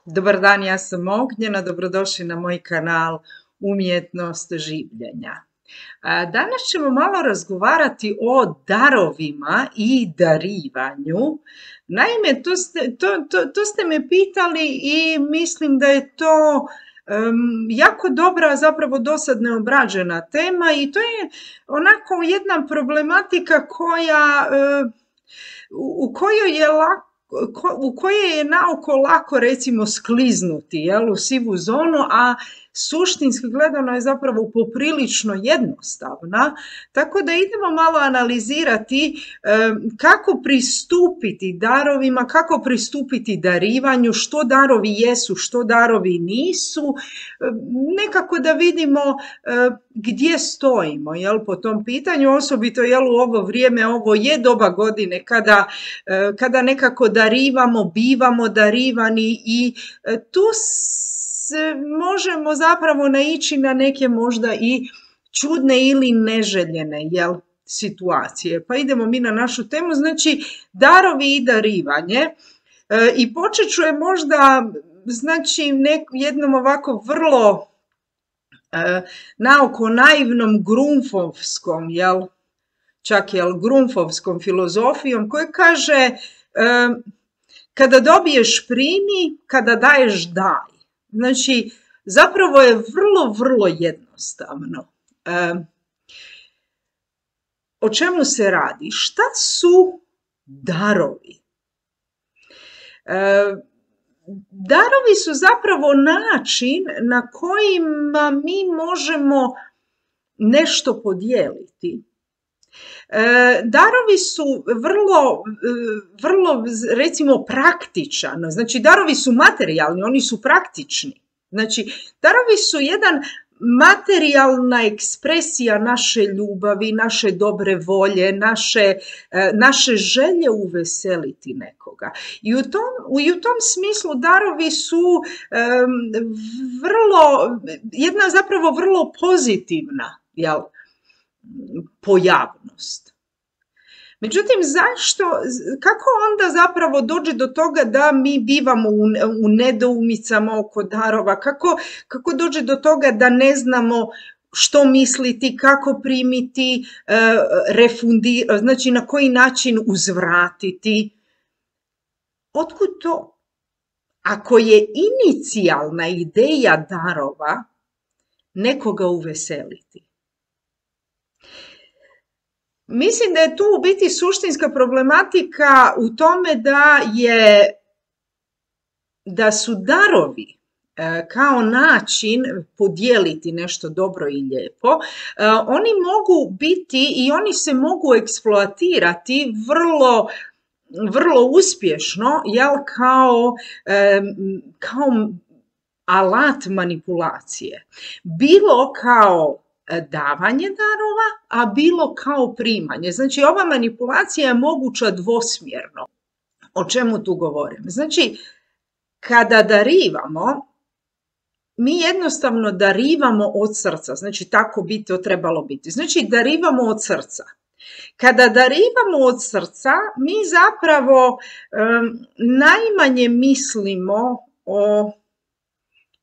Dobar dan, ja sam Ognjena, dobrodošli na moj kanal Umjetnost življenja. Danas ćemo malo razgovarati o darovima i darivanju. Naime, to ste me pitali i mislim da je to jako dobra, zapravo dosad neobrađena tema i to je onako jedna problematika u kojoj je naoko lako recimo skliznuti u sivu zonu, a suštinski gledano je zapravo poprilično jednostavna, tako da idemo malo analizirati kako pristupiti darovima, kako pristupiti darivanju, što darovi jesu, što darovi nisu, nekako da vidimo gdje stojimo po tom pitanju, osobito u ovo vrijeme, ovo je doba godine kada nekako darivamo, bivamo darivani i tu možemo zapravo naići na neke možda i čudne ili neželjene situacije. Pa idemo mi na našu temu, znači darovi i darivanje. I počet ću je možda jednom ovako vrlo naoko naivnom grunfovskom, čak grunfovskom filozofijom koja kaže kada dobiješ primi, kada daješ daj. Znači, zapravo je vrlo, vrlo jednostavno. O čemu se radi? Šta su darovi? Darovi su zapravo način na kojima mi možemo nešto podijeliti. Darovi su vrlo recimo praktičan, znači darovi su materijalni, oni su praktični. Znači darovi su jedan materijalna ekspresija naše ljubavi, naše dobre volje, naše želje uveseliti nekoga. I u tom smislu darovi su jedna zapravo vrlo pozitivna pojavnost. Međutim, kako onda zapravo dođe do toga da mi bivamo u nedoumicama oko darova, kako dođe do toga da ne znamo što misliti, kako primiti, refundirati, znači na koji način uzvratiti. Otkud to? Ako je inicijalna ideja darova nekoga uveseliti. Mislim da je tu u biti suštinska problematika u tome da su darovi kao način podijeliti nešto dobro i lijepo, oni mogu biti i oni se mogu eksploatirati vrlo uspješno, kao alat manipulacije. Bilo kao davanje darova, a bilo kao primanje. Znači, ova manipulacija je moguća dvosmjerno. O čemu tu govorim? Znači, kada darivamo, mi jednostavno darivamo od srca. Znači, tako bi to trebalo biti. Znači, darivamo od srca. Kada darivamo od srca, mi zapravo najmanje mislimo o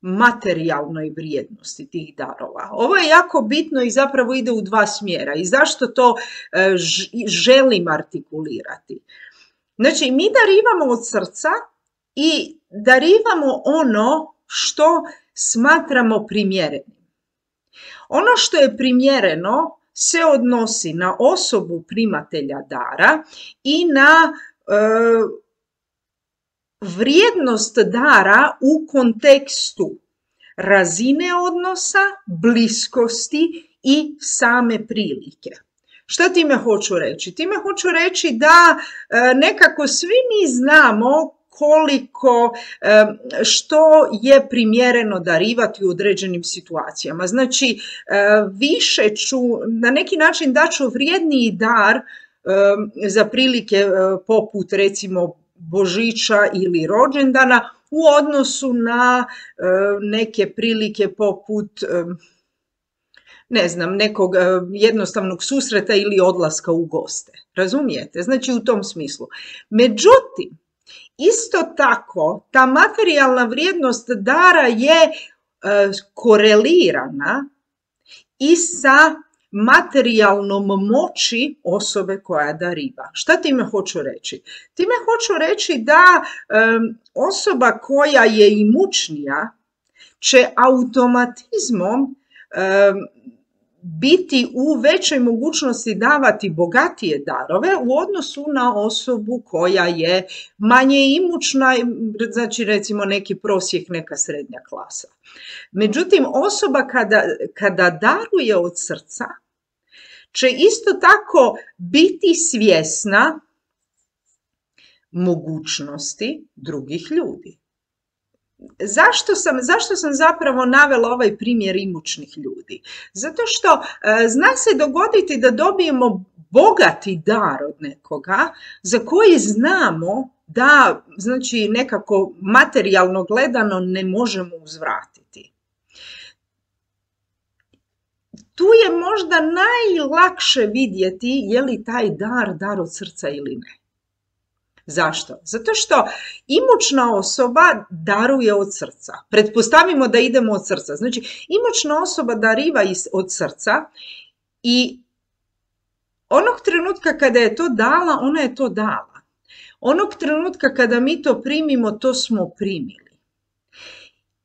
materijalnoj vrijednosti tih darova. Ovo je jako bitno i zapravo ide u dva smjera. I zašto to želim artikulirati? Znači, mi darivamo od srca i darivamo ono što smatramo primjerenim. Ono što je primjereno se odnosi na osobu primatelja dara i na vrijednost dara u kontekstu razine odnosa, bliskosti i same prilike. Šta time hoću reći? Time hoću reći da nekako svi mi znamo što je primjereno darivati u određenim situacijama. Znači, na neki način daću vrijedniji dar za prilike poput recimo Božića ili rođendana u odnosu na neke prilike poput nekog jednostavnog susreta ili odlaska u goste. Razumijete? Znači u tom smislu. Međutim, Isto tako, ta materijalna vrijednost dara je korelirana i sa materijalnom moći osobe koja dariva. Šta time hoću reći? Time hoću reći da osoba koja je imućnija će automatizmom biti u većoj mogućnosti davati bogatije darove u odnosu na osobu koja je manje imućna, znači recimo neki prosjek, neka srednja klasa. Međutim, osoba kada daruje od srca će isto tako biti svjesna mogućnosti drugih ljudi. Zašto sam zapravo navela ovaj primjer imućnih ljudi? Zato što zna se dogoditi da dobijemo bogati dar od nekoga za koji znamo da, znači, nekako materijalno gledano ne možemo uzvratiti. Tu je možda najlakše vidjeti je li taj dar od srca ili ne. Zašto? Zato što imućna osoba daruje od srca. Pretpostavimo da idemo od srca. Znači, imućna osoba dariva od srca i onog trenutka kada je to dala, ona je to dala. Onog trenutka kada mi to primimo, to smo primili.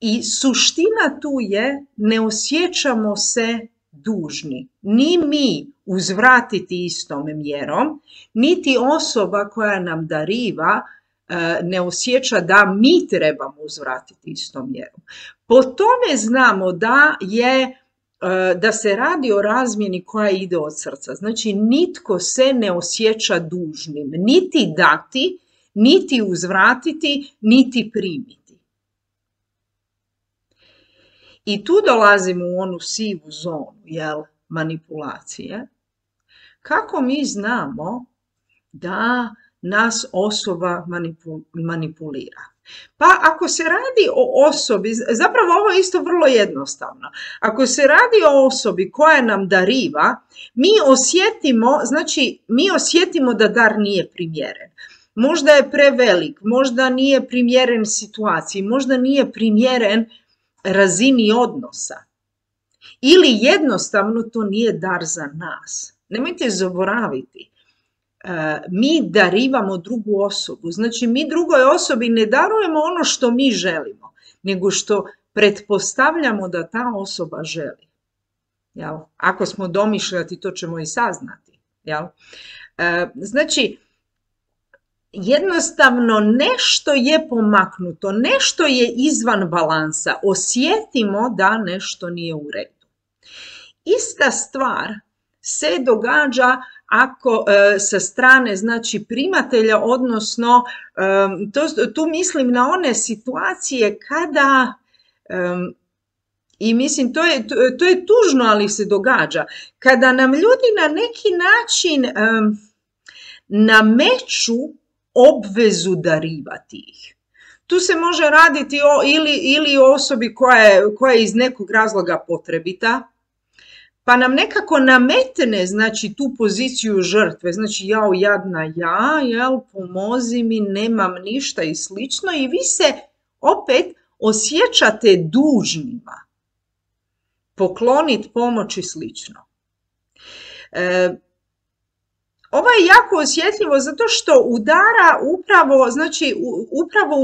I suština tu je, ne osjećamo se dužni. Ni mi uzvratiti istom mjerom, niti osoba koja nam dariva ne osjeća da mi trebamo uzvratiti istom mjerom. Po tome znamo da se radi o razmjeni koja ide od srca. Znači, nitko se ne osjeća dužnim, niti dati, niti uzvratiti, niti primiti. I tu dolazimo u onu sivu zonu, manipulacije. Kako mi znamo da nas osoba manipulira? Pa ako se radi o osobi, zapravo ovo je isto vrlo jednostavno. Ako se radi o osobi koja nam dariva, mi osjetimo da dar nije primjeren. Možda je prevelik, možda nije primjeren situaciji, možda nije primjeren razini odnosa. Ili jednostavno to nije dar za nas. Nemojte zaboraviti, mi darivamo drugu osobu. Znači, mi drugoj osobi ne darujemo ono što mi želimo, nego što pretpostavljamo da ta osoba želi. Jel? Ako smo domišljati, to ćemo i saznati. Jel? Znači, jednostavno nešto je pomaknuto, nešto je izvan balansa. Osjetimo da nešto nije u redu. Ista stvar se događa ako sa strane, znači, primatelja, odnosno tu mislim na one situacije kada, i mislim to je tužno, ali se događa, kada nam ljudi na neki način nameću obvezu darivati ih. Tu se može raditi ili o osobi koja je iz nekog razloga potrebita, pa nam nekako nametne, znači, tu poziciju žrtve, znači, jao, jadna ja, pomozi mi, nemam ništa i slično, i vi se opet osjećate dužnima pokloniti pomoć i slično. Ovo je jako osjetljivo zato što udara upravo, znači, upravo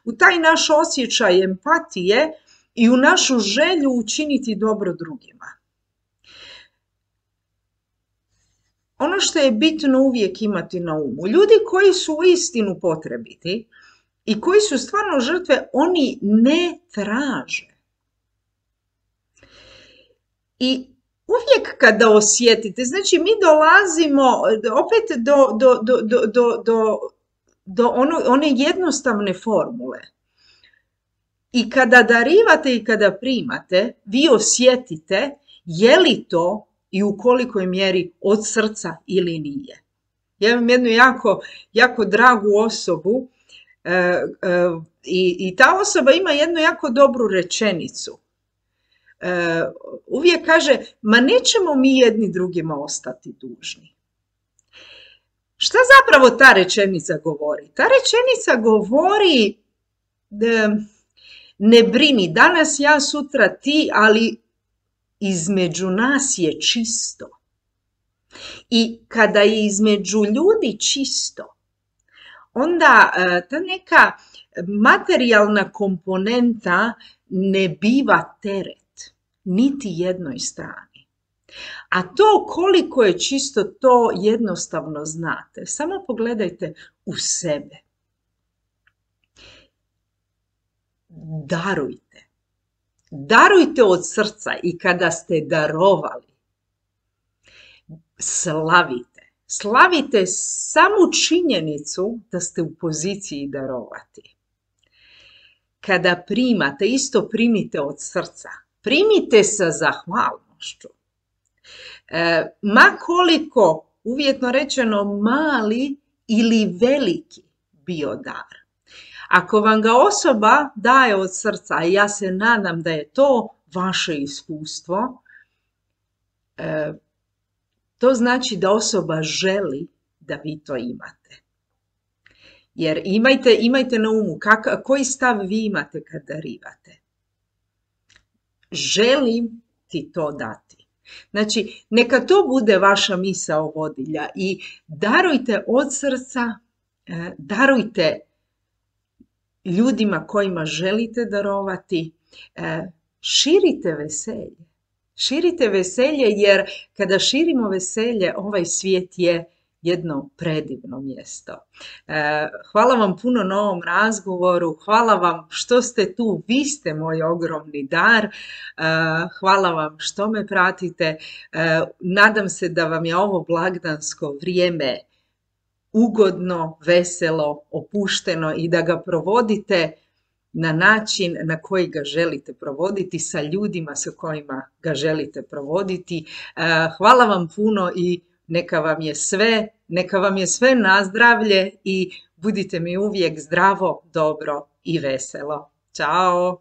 u taj naš osjećaj empatije i u našu želju učiniti dobro drugima. Ono što je bitno uvijek imati na umu, ljudi koji su uistinu potrebiti i koji su stvarno žrtve, oni ne traže. I uvijek kada osjetite, znači, mi dolazimo opet do one jednostavne formule. I kada darivate i kada primate, vi osjetite je li to i u kolikoj mjeri od srca ili nije. Ja imam jednu jako dragu osobu i ta osoba ima jednu jako dobru rečenicu. Uvijek kaže, ma nećemo mi jedni drugima ostati dužni. Šta zapravo ta rečenica govori? Ta rečenica govori ne brini, danas ja, sutra ti, ali između nas je čisto. I kada je između ljudi čisto, onda ta neka materijalna komponenta ne biva teret niti jednoj strani. A to koliko je čisto, to jednostavno znate. Samo pogledajte u sebe. Darujte. Darujte od srca i kada ste darovali, slavite. Slavite samu činjenicu da ste u poziciji darovati. Kada primate, isto primite od srca. Primite sa zahvalnošću. Ma koliko, uvjetno rečeno, mali ili veliki bio dar. Ako vam ga osoba daje od srca, a ja se nadam da je to vaše iskustvo, to znači da osoba želi da vi to imate. Jer imajte na umu koji stav vi imate kad darivate. Želim ti to dati. Znači, neka to bude vaša misao vodilja i darujte od srca, darujte ljudima kojima želite darovati, širite veselje. Širite veselje jer kada širimo veselje, ovaj svijet je jedno predivno mjesto. Hvala vam puno na ovom razgovoru, hvala vam što ste tu, vi ste moj ogromni dar, hvala vam što me pratite, nadam se da vam je ovo blagdansko vrijeme ugodno, veselo, opušteno i da ga provodite na način na koji ga želite provoditi, sa ljudima sa kojima ga želite provoditi. Hvala vam puno i neka vam je sve na zdravlje i budite mi uvijek zdravo, dobro i veselo. Ćao!